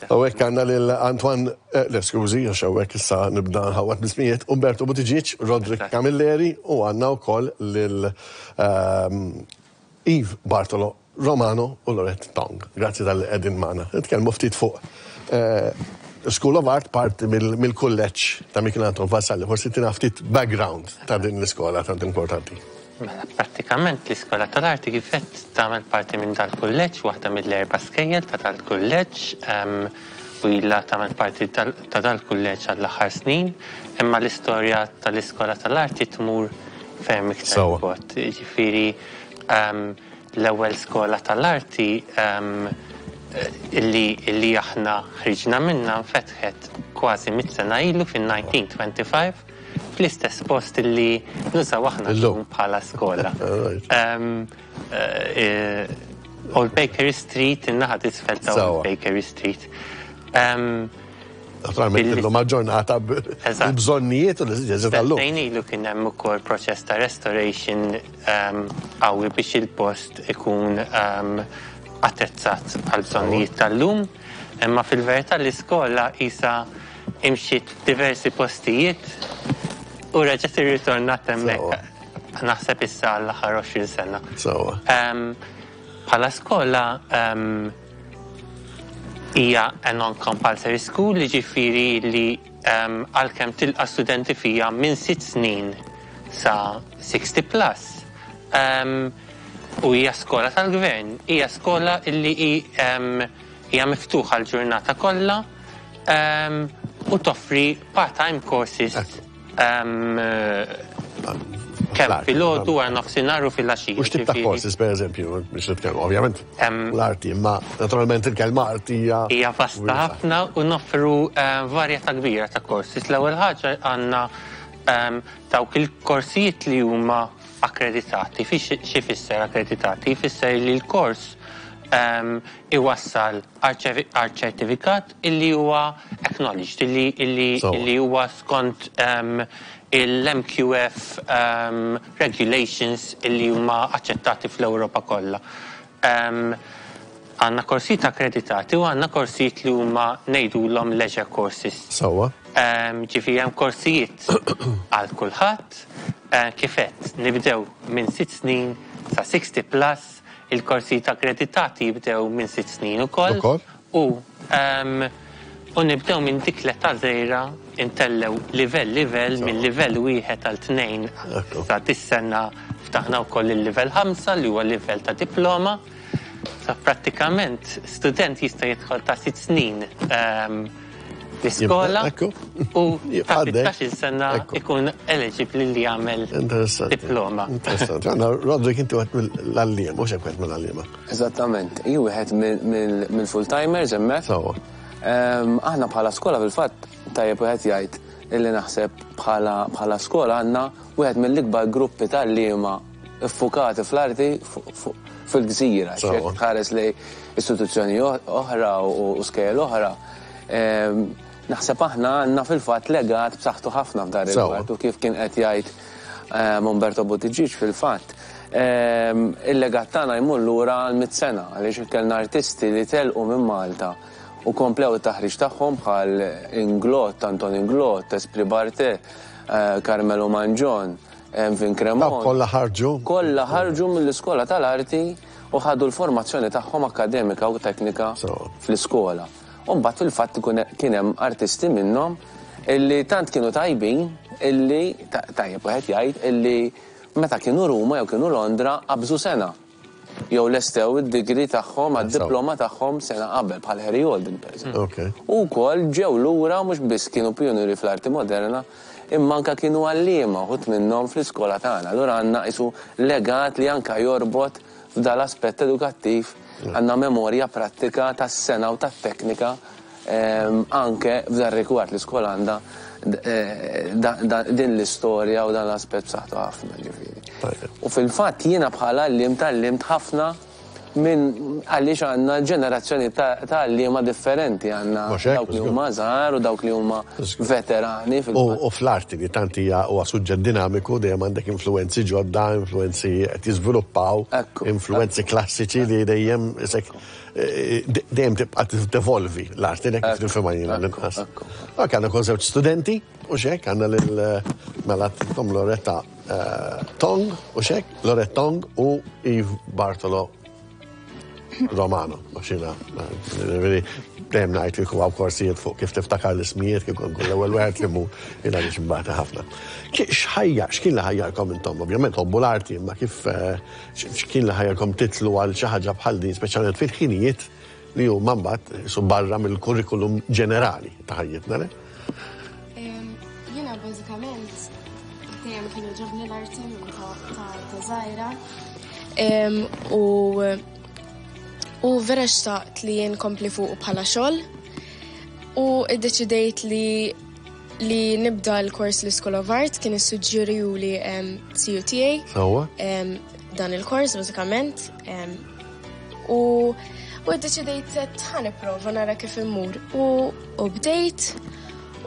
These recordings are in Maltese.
Hawnhekk għandna lil Antoine, eh, le skużi, għax hawnhekk issa nibda nħawwad bl-ismijiet, Umberto Buttigieg, Roderick Camilleri u għandna wkoll lil ehm, Yves Bartolo Romano u Lorette Tong. Grazzi talli qegħdin magħna. Nitkellmu ftit fuq eh, School of Art parti mill-kulleġġ ta' Michel Anton Vassalli. Forsi tina ftit background ta' din l-iskola tant importanti. Mela, prattikament l-Iskola tal-Arti kif għedt tagħmel parti minn dal-kulleġġ, waħda mill-erba' skejjel ta' dal-kulleġġ, u ilha tagħmel parti ta' dal-kulleġġ għall-aħħar snin, imma l-istorja tal-Iskola tal-Arti tmur ferm iktar 'il bogħod. Jiġifieri l-ewwel skola tal-arti illi illi aħna ħriġna minnha nfetħet kważi mitt sena ilu fin-1925 fl-istess post illi nużaw aħna llum bħala skola. Old Bakery Street, in-naħa t'isfel ta' Old Bakery Street. Naturalment illum aġġornata bil-bżonnijiet u l-esiġenzi tal-lum. Sentejn ilu kien hemm ukoll proċess ta' restoration qawwi biex il-post ikun attrezzat għall-bżonnijiet tal-lum. Imma fil-verità l-iskola qisha imxiet f'diversi postijiet u reġgħet irritornat hemmhekk naħseb issa għall-aħħar 20 sena. Bħala skola hija a non-compulsory school, jiġifieri li għalkemm tilqa' studenti fiha minn sitt snin sa 60 plus, u hija skola tal-gvern, hija skola li hija miftuħa l-ġurnata kollha u toffri part-time courses Kemm filgħodu, wara nofsinhar u filgħaxija. U x'tip ta' courses pereżempju biex nitkellmu, ovvjament l-arti, imma naturalment il-kelma arti hija. Hija vasta ħafna u noffru varjetà kbira ta' courses. L-ewwel ħaġa għandna dawk il-korsijiet li huma akkreditati. X'ifisser akkreditati? Jfisser li l-kors iwassal għal ċertifikat illi huwa acknowledged, illi huwa skont il-MQF regulations illi huma aċċettati fl-Ewropa kollha. Għandna korsijiet akkreditati u għandna korsijiet li huma ngħidulhom leisure courses. Sewwa. Ġifieri hemm korsijiet għal kulħadd, kif għedt nibdew minn sitt snin sa 60 plus, Il-korsijiet akkreditati jibdew minn sitt snin ukoll. Ukoll. U u nibdew minn dik l-età żgħira intellgħu livell livell minn livell wieħed għal tnejn sa dis-sena ftaħna wkoll il-livell ħamsa li huwa livell ta' diploma. Sa prattikament student jista' jidħol ta' sitt snin l-iskola u ta' 16-il sena ikun eligibbli li jagħmel diploma. Interessanti. Għandna Roderick inti wieħed mill-għalliem, mhux hekk wieħed mill-għalliema. Eżattament, jien wieħed mill-full-timers hemmhekk. Sewwa. Aħna bħala skola fil-fatt tajjeb wieħed jgħid illi naħseb bħala skola għandna wieħed mill-ikbar gruppi ta' għalliema ffukati fl-arti fil-gżira. Jekk tħares lejn istituzzjoni oħra u skejjel oħra, naħseb aħna għandna fil-fatt legat b'saħħtu ħafna f'dan ir-rigward u kif kien qed jgħid Umberto Buttigieg fil-fatt, il-legat tagħna jmur lura għal mitt sena għaliex kellna artisti li telqu minn Malta u komplew it-taħriġ tagħhom bħal Inglott, Anton Inglott, Esprit Barthet, Carmelo Mangion, Envin Cremona. Dawk kollha ħarġu? Kollha ħarġu mill-iskola tal-arti u ħadu l-formazzjoni tagħhom akkademika u teknika fl-iskola. U mbagħad fil-fatt ikun kien hemm artisti minnhom illi tant kienu tajbin illi, tajjeb wieħed jgħid, illi meta kienu Ruma jew kienu Londra qabżu sena. Jew lestew id-degree tagħhom għad-diploma tagħhom sena qabel bħal Harry Alden pereżempju. U wkoll ġew lura mhux biss kienu pijunieri fl-arti moderna imma anke kienu għalliema uħud minnhom fl-iskola tagħna. Allura għandna qisu legat li anke jorbot f'dal-aspett edukattiv, għandna memorja prattika tas-sengħa u tat-teknika anke f'dar-rigward. L-iskola għandha din l-istorja u dan l-aspett b'saħħtu ħafna, ġifieri. U fil-fatt jiena bħala għalliem tgħallimt ħafna. minn għaliex għandna ġenerazzjoni ta' għalliema differenti għandna dawk li huma żgħar u dawk li huma veterani fil-fatt. U fl-arti li tant hija huwa suġġett dinamiku dejjem għandek influwenzi ġodda, influwenzi qed jiżviluppaw, influwenzi klassiċi li dejjem isek dejjem tibqa' tevolvi l-arti dik kif nifhimha jiena l-inqas. Ok, għandna kol żewġ studenti u xek għandna lil mela Tom Loretta Tong u xek, Loretta Tong u Yves Bartolo Romano, xina, dejjem ngħid kieku hawn korsijiet fuq kif tiftakar l-ismijiet kieku nkun l-ewwel wieħed li mur jiena għaliex imbagħad ħafna. X'ħajja, x'kien li ħajjarkom intom? Ovvjament hobbu l-arti, imma kif eh, x'kien li ħajjarkom titlu għal xi ħaġa bħal din, speċjalment fil-ħinijiet li huma mbagħad su barra mill-kurrikulum ġenerali ta' ħajjitna, le? Jiena bażikament dejjem kien jogħġobni l-arti minn ta' żgħira. U u vera xtaqt li jien kompli fuq bħala xogħol u iddeċidejt li li nibda l-kors l-School of Art kien issuġġerjuli CU tiegħi. Dan il-kors bażikament U u ddeċidejt ħa nipprova nara kif immur. U, u bdejt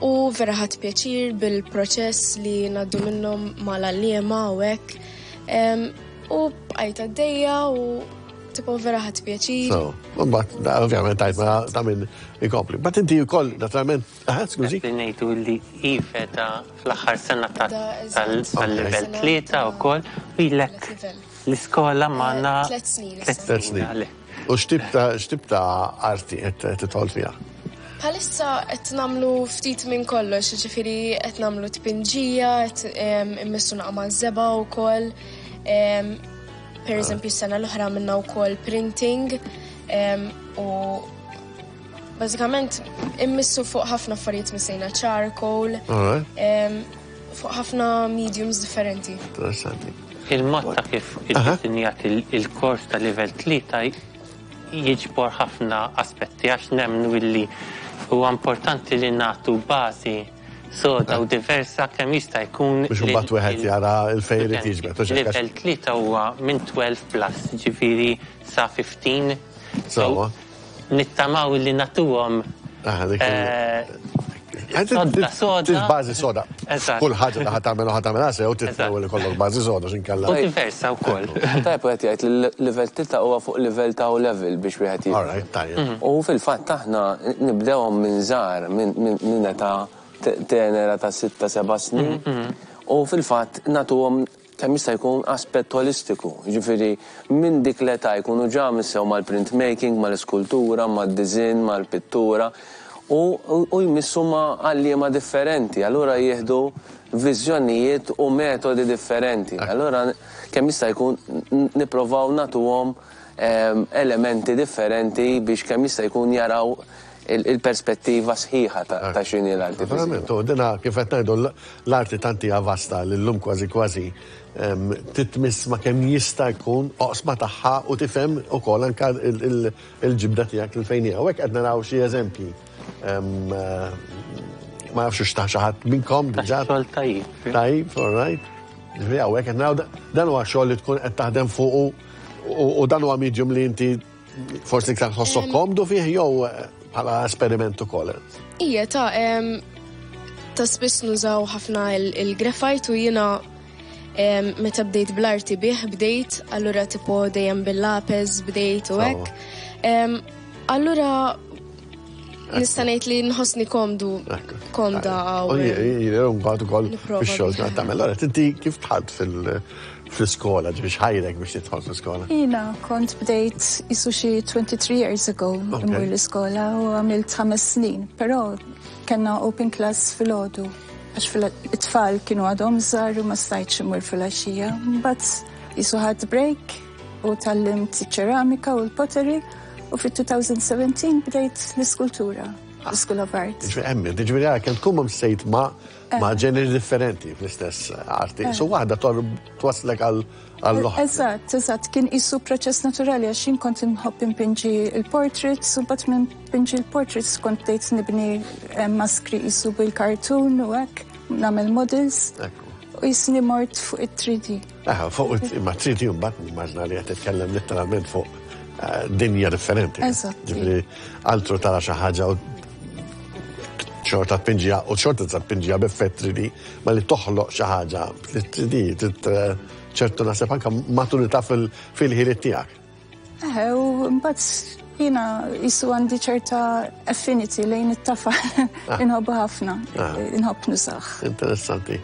u vera ħadt pjaċir bil-proċess li ngħaddu minnhom mal-għalliema u hekk. U bqajt għaddejja u tipo vera ħadt pjaċir. So, mbagħad ovvjament tajt ma ta' min ikompli. But inti wkoll naturalment, aha, skużi. Qed ngħidu li Ive ta' fl-aħħar sena tal-level 3 wkoll u ilek L-iskola magħna. Tlet snin. Tlet snin. U x'tip ta' x'tip ta' arti qed tidħol fiha? Bħalissa qed nagħmlu ftit minn kollox, jiġifieri qed nagħmlu tpinġija, qed immissu naqa' maż-żebgħa wkoll. Per eżempju s-sena l-oħra għamilna wkoll printing u bażikament immissu fuq ħafna affarijiet missejna charcoal. Fuq ħafna mediums differenti. Interessanti. Il-mod ta' kif iddisinjat il-kors ta' livell 3 jiġbor ħafna aspetti għax nemmnu illi huwa importanti li nagħtu bażi soda u diversa kemm jista' jkun. Biex imbagħad wieħed jara l fejn irid jiġbed. Livell 3 huwa minn 12 plus, jiġifieri sa 15. Sewwa. Nittamaw li natuhom sodda soda. Bażi soda. Kull ħaġa li ħa tagħmel u ħa tagħmilha sew trid l-ewwel ikollok bażi soda x'inkella. U diversa wkoll. Tajjeb wieħed jgħid li l-livell tlieta huwa fuq livell ta' O level biex wieħed jifhem. All right, tajjeb. U fil-fatt aħna nibdewhom minn żgħar, minn età tenera ta' sitta seba' snin u fil-fatt nagħtuhom kemm jista' jkun aspett olistiku, jiġifieri minn dik l-età jkunu ġa missew mal-printmaking, mal-iskultura, mad-diżinn, mal-pittura u u jmissu ma' għalliema differenti, allura jieħdu viżjonijiet u metodi differenti. Allura kemm jista' jkun nipprovaw nagħtuhom elementi differenti biex kemm jista' jkun jaraw il-perspettiva sħiħa ta' x'inhi l-arti viżiva. Verament, u dina kif qed ngħidu l-arti tant hija vasta li llum kważi kważi titmiss ma' kemm jista' jkun oqsma tagħha u tifhem ukoll anke il-ġibda tiegħek lil fejn hija. U hekk qed naraw xi eżempji. Ma nafx hux ta' xi ħadd minnkom diġà. Xogħol tajjeb. Tajjeb, all right. Ġifieri hawnhekk qed naraw dan huwa xogħol li tkun qed taħdem fuqu u dan huwa medium li inti Forsi iktar tħossok komdu fih jew eh, bħala esperiment ukoll. Ija ta' ta' spiss nużaw ħafna il-graphite u jiena meta bdejt bl-arti bih bdejt, allura tipo dejjem bil-lapes bdejt u hekk. Allura nista' ngħid li nħossni komdu komda għaw. Jien mbagħad ukoll fix-xogħol ta' tagħmel. Allura inti kif dħalt fil- fl-iskola, ġifieri x'ħajrek biex tidħol fl-iskola? Jiena kont bdejt isu xi 23 years ago immur l-iskola u għamilt ħames snin, però kellna open class filgħodu għax it-tfal kienu għadhom żgħar u ma stajtx immur filgħaxija. Mbagħad isu ħadt break u tgħallimt iċ-ċeramika u l-pottery u fit-2017 bdejt l-iskultura, l-School of Art. Ġifieri hemm, ġifieri għara kemm tkun msejt ma' ma' ġeneri differenti fl-istess arti. So waħda twaslek għal għall-oħra. Eżatt, eżatt, kien isu proċess naturali għax jien kont inħobb inpinġi il-portraits u mbagħad minn pinġi l-portraits kont bdejt nibni eh, maskri isu bil-kartun u hekk, nagħmel models. U jisni mort fuq it-3D. Aha, fuq imma 3D mbagħad nimmaġna li qed titkellem letteralment fuq. dinja differenti. Eżatt. Ġifieri altru tara xi ħaġa u xorta tpinġiha u xorta tista' tpinġiha b'effett 3D, ma li toħloq xi ħaġa li 3D trid ċertu naħseb anke maturità fil-ħiliet tiegħek. Eħe, u mbagħad jiena jisu għandi ċerta affinity lejn it-tafal. Inħobbu ħafna, inħobb nużah. Interessanti.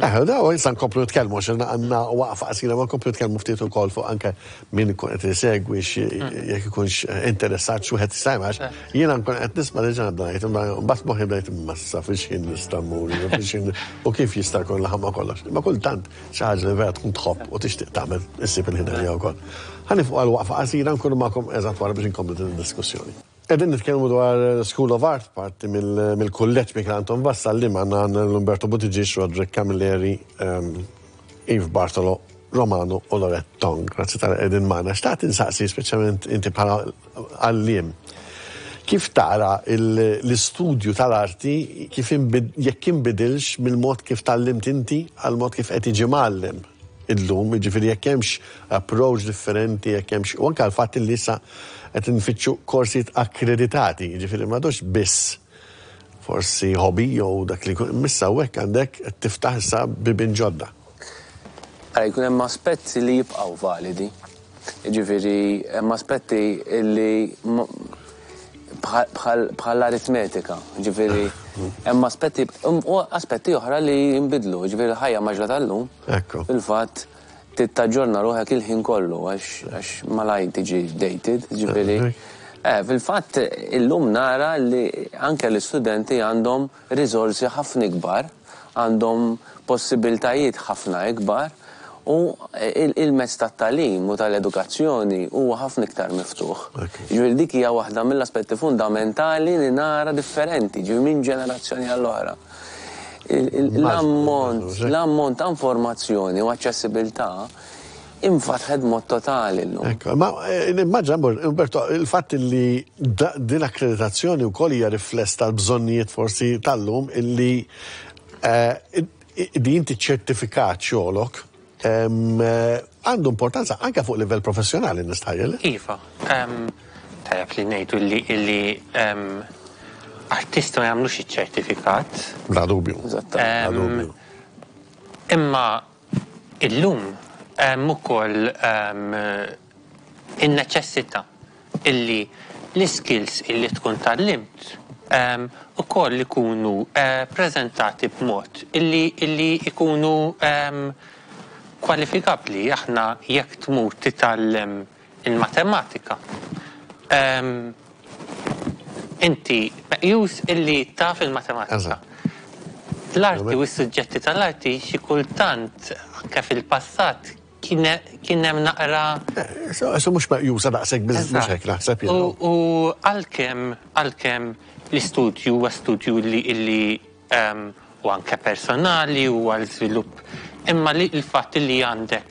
Eħe, da issa nkomplu nitkellmu għax għandna waqfa qasira ma nkomplu nitkellmu ftit ukoll fuq anke min ikun qed isegwi jekk ikunx interessat xi wieħed jista' għax jiena nkun qed nisma' diġà nibda ngħid, imma mbagħad moħħi bdejt imma issa fiex ħin nista' mmur, fiex ħin u kif jista' jkun laħam ma' kollox. Imma kultant xi ħaġa li vera tkun tħobb u tixtieq tagħmel issib il-ħin għaliha wkoll. Ħa nieqfu għal waqfa qasira nkunu magħkom eżatt wara biex inkomplu din id-diskussjoni. Qegħdin nitkellmu dwar School of Art, parti mill-kulleġġ Mikiel Anton Vassalli magħna l-Umberto Buttigieg, Roderick Camilleri, Yves Bartolo, Romano u Lorette Tong. Grazzi talli qegħdin magħna. Xtaqt insaqsi speċjalment inti bħala għalliem. Kif tara l-istudju tal-arti kif jekk inbidilx mill-mod kif tgħallimt inti għal mod kif qed jiġi mgħallem illum, jiġifieri jekk hemmx approach differenti, jekk hemmx u anke l-fatt li issa qed nfittxu korsijiet akkreditati, jiġifieri m'għadux biss forsi hobby jew dak li jkun, issa hekk għandek qed tiftaħ issa bibien ġodda. Ara jkun hemm aspetti li jibqgħu validi. Jiġifieri hemm aspetti li bħal aritmetika, ġifieri hemm aspetti u aspetti oħra li jinbidlu, ġifieri l-ħajja mgħaġġla tal-lum. Fil-fatt tittaġġorna ruħek il-ħin kollu għax malaj tiġi dated, ġifieri. Fil-fatt illum nara li anke l-istudenti għandhom riżorsi ħafna ikbar, għandhom possibiltajiet ħafna ikbar u il-mezz tat-tagħlim u tal-edukazzjoni huwa ħafna iktar miftuħ. Ġifieri dik hija waħda mill-aspetti fundamentali li nara differenti, ġifieri minn ġenerazzjoni għall-oħra. L-ammont ta' informazzjoni u aċċessibilità infatħet mod totali llum. Ekku, ma nimmaġina, Umberto, il-fatt li din akkreditazzjoni wkoll hija rifless tal-bżonnijiet forsi tal-lum illi di inti ċertifikat xogħolok għandu importanza anke fuq livell professjonali nistħajjel. Iva, tajjeb li ngħidu illi artisti ma jagħmlux iċ-ċertifikat. Bla dubju. Bla dubju. Imma illum hemm ukoll in-neċessità illi l-skills illi tkun tgħallimt ukoll ikunu prezentati b'mod illi ikunu kwalifikabbli. Aħna jekk tmur titgħallem il-matematika, inti meqjus illi taf il-matematika. L-arti u s-suġġetti tal-arti xi kultant anke fil-passat kien hemm naqra So mhux meqjusa daqshekk biss mhux hekk naħseb jien. U għalkemm l-istudju huwa studju li u anke personali u għal żvilupp, imma li l-fatt li għandek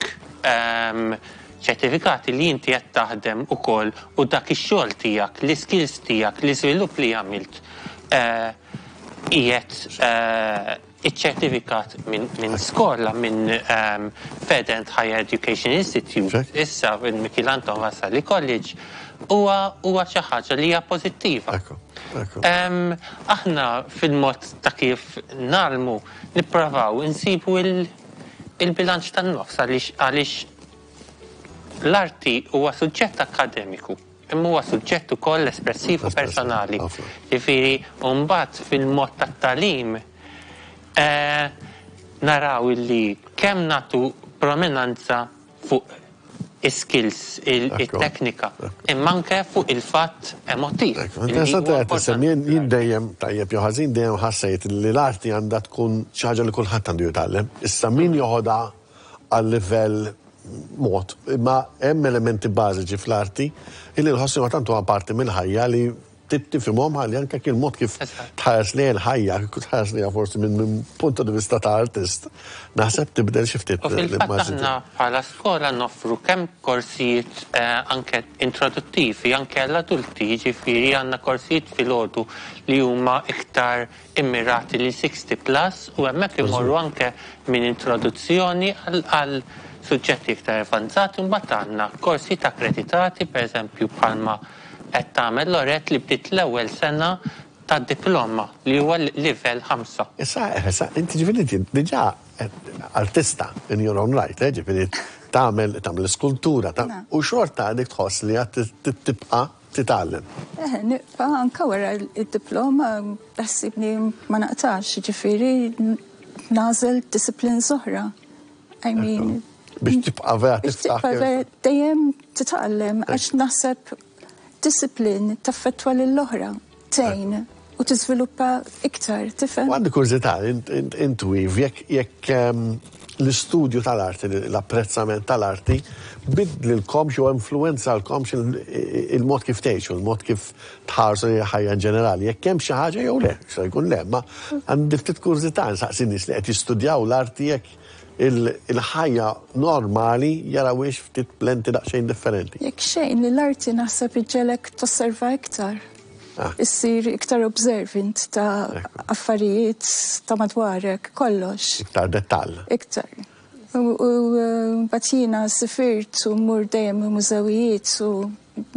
ċertifikati li inti qed taħdem ukoll u dak ix-xogħol tiegħek, l-iskills tiegħek, l-iżvilupp li għamilt qiegħed iċ-ċertifikat minn skola, minn Further and Higher Education Institute, issa minn Mikiel Anton Vassalli College, huwa xi ħaġa li hija pożittiva. Aħna fil-mod ta' kif ngħallmu nipprovaw insibu il-bilanċ tan-nofs għaliex l-arti huwa suġġett akademiku, imma huwa suġġett ukoll espressiv u personali. Ġifieri mbagħad fil-mod tat-tagħlim naraw illi kemm nagħtu prominenza fuq is-skills, il-teknika, imma anke fuq il-fatt emotiv. Interessanti qed tisemmi, jien dejjem tajjeb jew ħażin dejjem ħassejt li l-arti għandha tkun xi ħaġa li kulħadd għandu jitgħallem. Issa min joħodha għal livell mod, imma hemm elementi bażiċi fl-arti illi nħossi ma tant huwa parti mill-ħajja li tifhimhom ħalli anke kien mod kif tħares li l-ħajja, kif tħares li forsi minn punto di vista ta' artist, naħseb tibdel xi ftit. U fil-fatt aħna bħala skola noffru kemm korsijiet anke introduttivi, anke għall-adulti, jiġifieri għandna korsijiet filgħodu li huma iktar immirati li 60 plus u hemmhekk imorru anke minn introduzzjoni għal suġġetti iktar avanzati, mbagħad għandna korsijiet akkreditati, pereżempju bħalma qed tagħmel Lorette li bdiet l-ewwel sena tad-diploma li huwa livell 5. Issa, issa, inti ġifieri inti diġà artista in your own right, eh, ġifieri tagħmel tagħmel skultura u xorta għadek tħoss li għad tibqa' titgħallem. Eh, nibqa' anke wara d-diploma taħsibni ma naqtax, ġifieri nagħżel disciplines oħra. I mean, biex tibqa' vera biex tibqa' vera dejjem titgħallem għax naħseb discipline taffettwa lill-oħra, tgħin u tiżviluppa iktar, tifhem? U għandi kurżità, int Yves, jekk jekk ehm, l-istudju tal-arti, l-apprezzament tal-arti, bidlilkomx jew influwenzalkomx il-mod kif tgħixu, il-mod kif tħarsu lejn il-ħajja in ġenerali, jekk hemm xi ħaġa jew le, jista' jkun le, imma għandi ftit kurżità nsaqsi nies li qed jistudjaw l-arti jekk il-ħajja normali jarawhiex ftit b'lenti daqsxejn differenti. Jekk xejn, li l-arti naħseb iġġegħlek tosserva iktar. Ah. Issir iktar observant ta' affarijiet ta' madwarek, kollox. Iktar dettall. Iktar. U mbagħad jiena sifirt u mmur dejjem mużewijiet u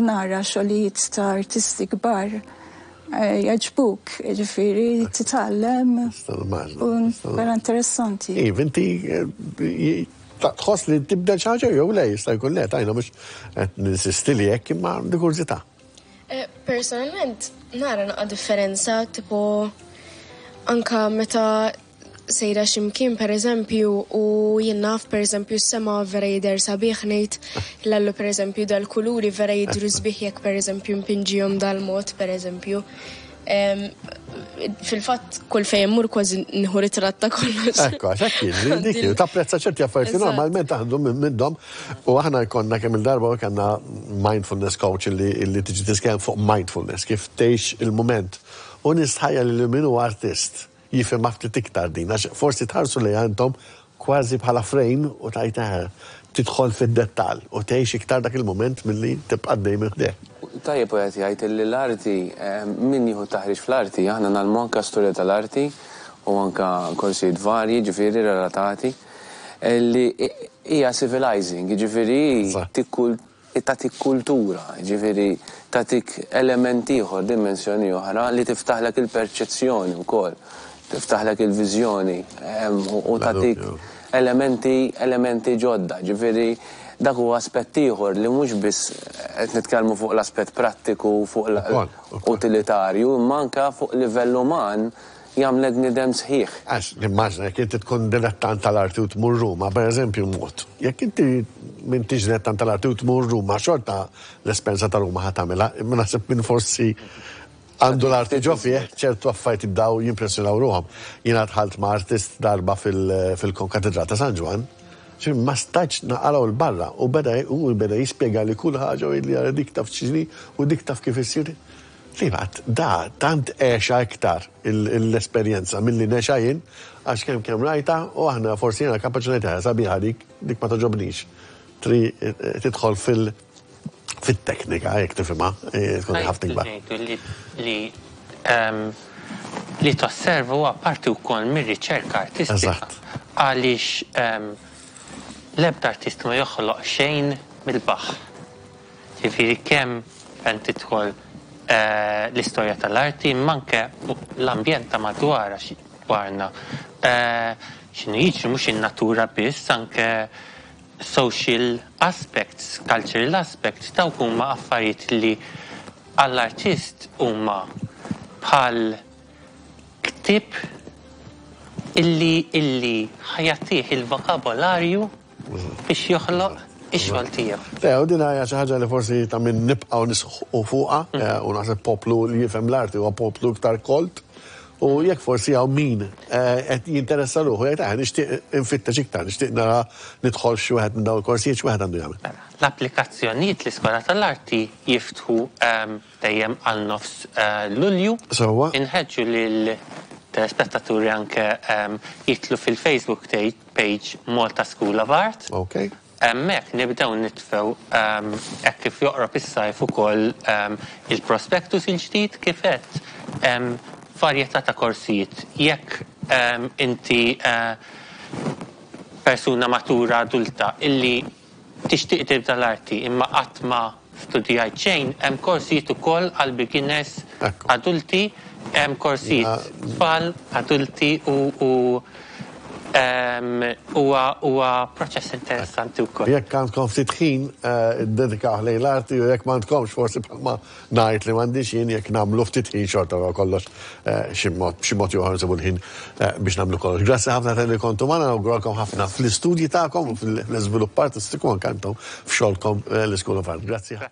nara xogħlijiet ta' artisti kbar eh, jogħġbuk, ġifieri titgħallem. U vera interessanti. Iva, inti eh, tħoss li tibdel xi ħaġa jew le jista' jkun le tajna mhux qed ninsisti li hekk imma għandi kurżità. Eh, personalment nara naqa' differenza tipo anka meta sejra xi mkien pereżempju u jien naf pereżempju s-sema vera jidher sabiħ ngħid l-Allu pereżempju dal-kuluri vera jidhru sbieħ jekk pereżempju npinġihom dal-mod pereżempju. Fil-fatt kull fejn immur kważi nieħu ritratt ta' kollox. Ekku, għax hekk jiġri, dik hi, tapprezza ċerti affarijiet li normalment aħdu minnhom u aħna jkollna kemm il-darba u kellna mindfulness coach li tiġi titkellem fuq mindfulness, kif tgħix il-mument. U nistħajjel li min hu artist jifhimha ftit iktar din, għax forsi tħarsu lejha intom kważi bħala frame u tgħid eħe, tidħol fid-dettall u tgħix iktar dak il-mument milli tibqa' għaddej minn ħdejh. Tajjeb wieħed jgħid illi l-arti, min jieħu taħriġ fl-arti, aħna ngħallmu anke storja tal-arti u anke korsijiet varji, jiġifieri relatati, li hija civilizing, jiġifieri hi tagħtik kultura, jiġifieri tagħtik element ieħor, dimensjoni oħra li tiftaħlek il-perċezzjoni wkoll, tiftaħlek il-viżjoni u tagħtik elementi elementi ġodda, jiġifieri dak huwa aspett ieħor li mhux biss qed nitkellmu fuq l-aspett prattiku, fuq l-utilitarju, imma anke fuq livell uman jagħmlek bniedem sħiħ. Għax nimmaġina jekk inti tkun dilettant tal-arti u tmur Ruma, pereżempju mod. Jekk inti m'intix dilettant tal-arti u tmur Ruma, xorta l-esperjenza ta' Ruma ħa tagħmilha, imma naħseb min forsi għandu l-arti ġo fih, ċertu affarijiet jibdew jimpressjonaw ruħhom. Jiena dħalt ma' artist darba fil-Konkatedral ta' San Ġwann, ġifieri ma stajtx naqalgħu 'l barra u beda hu beda jispjegali kull ħaġa u jgħidli ara dik taf x'inhi u dik taf kif issir. Fil-fatt, da tant għexha iktar l-esperjenza milli ngħexha jien, għax kemm kemm rajtha u aħna forsi jiena kapaċi ngħid eħe sabiħa dik, dik ma togħġobnix. Tri tidħol fil fit-teknika jekk tifhimha, tkun ħafna ikbar. Ngħidu li li tosserva huwa parti wkoll mir-riċerka artistika. Għaliex l-ebda artist ma joħloq xejn mill-baħħ. Jiġifieri kemm fejn tidħol l-istorja tal-arti imma anke l-ambjent ta' madwar għax dwarna x'inhu jiġri mhux in-natura biss anke social aspects, cultural aspects dawk huma affarijiet li għall-artist huma bħal ktieb illi illi ħa jagħtih il-vokabolarju biex joħloq ix-xogħol tiegħu. Le, u din hija xi ħaġa li forsi ta' min nibqgħu nisħqu fuqha, u naħseb poplu li jifhem l-arti huwa poplu iktar kolt, u jekk forsi hawn min qed jinteressa ruħu jgħid eh nixtieq infittex iktar, nixtieq nara nidħol f'xi wieħed minn dawn il-korsijiet x'wieħed għandu jagħmel? Mela, l-applikazzjonijiet l-Iskola tal-Arti jiftħu dejjem għal nofs Lulju. Sewwa. Inħeġġu lil telespettaturi anke jidħlu fil-Facebook page Malta School of Art. Ok. Hemmhekk nibdew nitfgħu hekk kif joqrob is-sajf ukoll il-prospectus il-ġdid kif għedt hemm varjetà ta' korsijiet. Jekk inti. persuna matura adulta illi tixtieq tibda l-arti imma qatt ma studjajt xejn, hemm korsijiet ukoll għal beginners adulti, hemm korsijiet tfal, adulti u huwa huwa proċess interessanti wkoll. Jekk għandkom ftit ħin iddedikawh lejn l-arti u jekk m'għandkomx forsi bħalma Ngħid li m'għandix jien jekk nagħmlu ftit ħin xorta wara kollox xi mod b'xi mod jew ieħor nsibu l-ħin biex nagħmlu kollox. Grazzi ħafna talli kontu magħna, nawguralkom ħafna fl-istudji tagħkom u fl-iżvilupp artistiku anke intom f'xogħolkom l-School of Art. Grazzi.